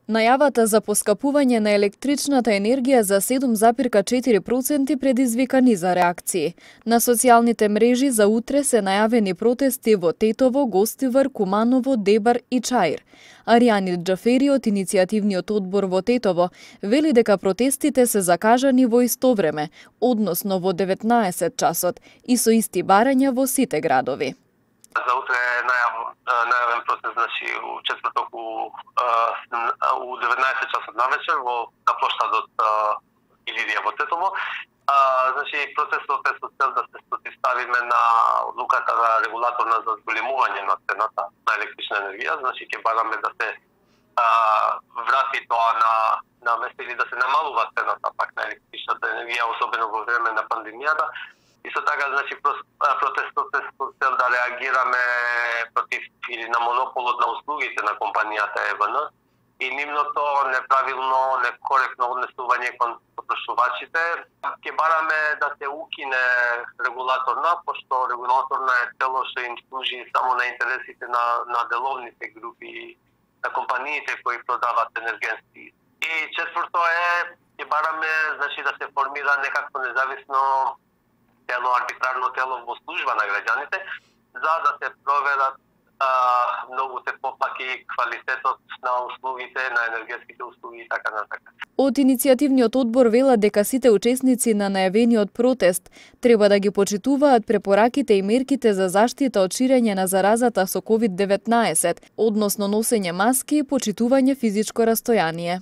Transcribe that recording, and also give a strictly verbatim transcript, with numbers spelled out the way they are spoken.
Најавата за поскапување на електричната енергија за седум запирка четири проценти предизвика низа реакции. На социјалните мрежи за утре се најавени протести во Тетово, Гостивар, Куманово, Дебар и Чаир. Аријани Џафери од иницијативниот одбор во Тетово вели дека протестите се закажани во исто време, односно во деветнаесет часот, и со исти барања во сите градови. За утре најав, најавен протест, значи, у четврток у, у деветнаесет часот навечер во на плоштадот Илирија во Тетово. А, значи, протестот е со цел да се противставиме на одлуката на регулаторна за зголемување на цената на електрична енергија. Значи, ќе бараме да се а, врати тоа на на место или да се намалува цената пак на електричната енергија, особено во време на пандемијата. Исто така, значи, протестот е со цел да реагираме против или на монополот на услугите на компанијата Е В Н и нивното неправилно, некоректно однесување кон потрошувачите. Ќе бараме да се укине регулаторна, пошто регулаторна е цело што им служи само на интересите на, на деловните групи, на компаниите кои продават енергенски. И четврто е, ќе бараме, значи, да се формира некакво независно тело, арбитрарно тело во служба на граѓаните, за да се проверат а, многуте попаки квалитетот на услугите, на енергетските услуги и така натака. Од иницијативниот одбор велат дека сите учесници на најавениот протест треба да ги почитуваат препораките и мерките за заштита од ширење на заразата со ковид деветнаесет, односно носење маски и почитување физичко растојание.